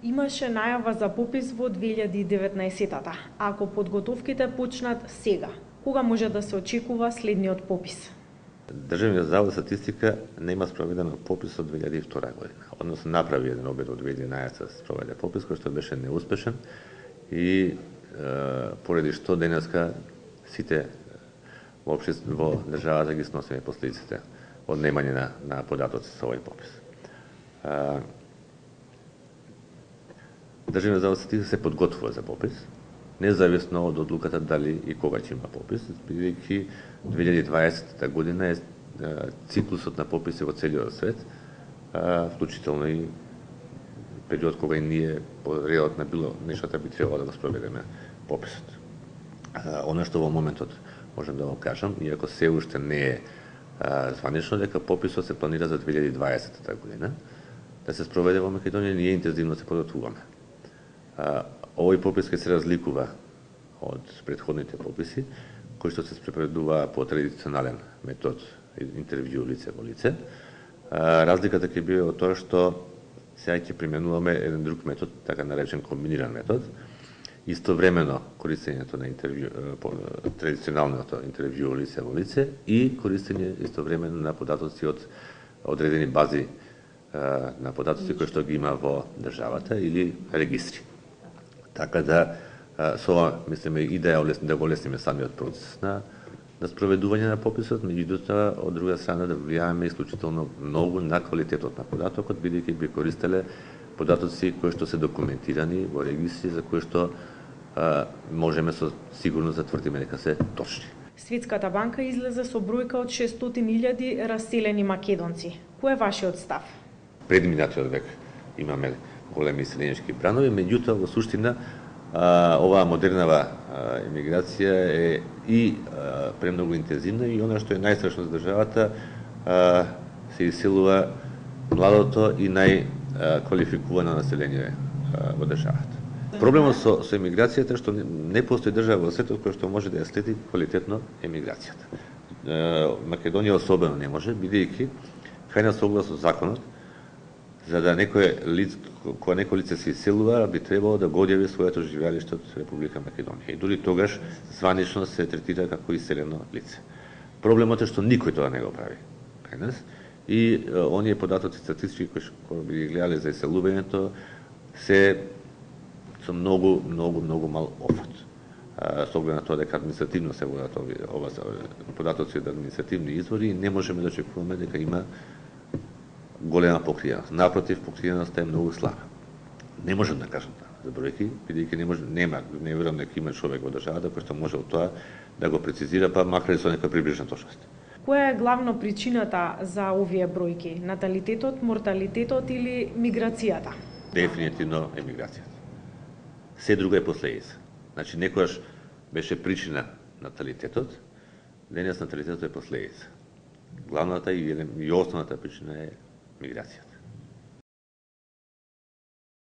Имаше најава за попис во 2019-та. Ако подготовките почнат сега, кога може да се очекува следниот попис? Државниот завод за статистика нема спроведен попис од 2002 година. Односно направи еден обид од 2011 да се спроведе попис кој што беше неуспешен и поради што денеска сите во државата ги сносиме последиците од немање на податоци со овој попис. Државниот завод за статистика се подготвува за попис, независно од одлуката дали и кога ќе има попис, бидејќи 2020 година е циклусот на пописи во целиот свет, вклучително и период кога и ние по редот на било нештата би требало да го спроведеме пописот. Она што во моментот можам да го кажам, иако се уште не е званично, дека пописот се планира за 2020 година, да се спроведе во Македонија, ние интензивно се подготвуваме. Овој попис ќе се разликува од претходните пописи, кои што се спроведува по традиционален метод, интервју лице во лице. Разликата ќе биде од тоа што сега ќе применуваме еден друг метод, така наречен комбиниран метод, истовремено користењето на традиционалното интервју лице во лице и користење истовремено на податоци од одредени бази на податоци кои што ги има во државата или регистри. Така да со ова мислиме и да го олесниме самиот процес на спроведување на пописот, меѓутоа од друга страна да влијаваме исклучително многу на квалитетот на податокот, бидејќи би користеле податоци кои што се документирани во регистри за кои што можеме со сигурност да тврдиме дека се точни. Светската банка излезе со бројка од 600.000 раселени македонци. Кој е вашиот став? Пред минатиот век имаме големи селенички бранови, меѓутоа во суштина оваа модернава емиграција е и премногу интензивна и она што е најстрашно за државата, се иселува младото и најквалификувано население во државата. Проблемот со емиграцијата е што не постои држава во светот која што може да ја следи квалитетно емиграцијата. Македонија особено не може, бидејќи крајна согласно законот, за да кога некој лице се иселува, би требало да го одјави своето живеалиште од Република Македонија. И дури тогаш званично се третира како иселено лице. Проблемот е што никој тоа не го прави кај нас и оние податоци статистички кои би ги гледале за иселувањето се со многу мал офат. Со оглед на тоа дека административно се водат ова податоци од административни извори и не можеме да очекуваме дека има голема покриеност. Напротив, покриеноста е многу слаба. Не можам да кажам тоа за бројки, бидејќи не верувам дека има човек во државата кој што може од тоа да го прецизира, па макар и со некоја приближна точност. Која е главно причината за овие бројки? Наталитетот, морталитетот или миграцијата? Дефинитивно емиграцијата. Се друго е последица. Значи, некојаш беше причина наталитетот, денес наталитетот е последица. Главната и основната причина е миграцијата.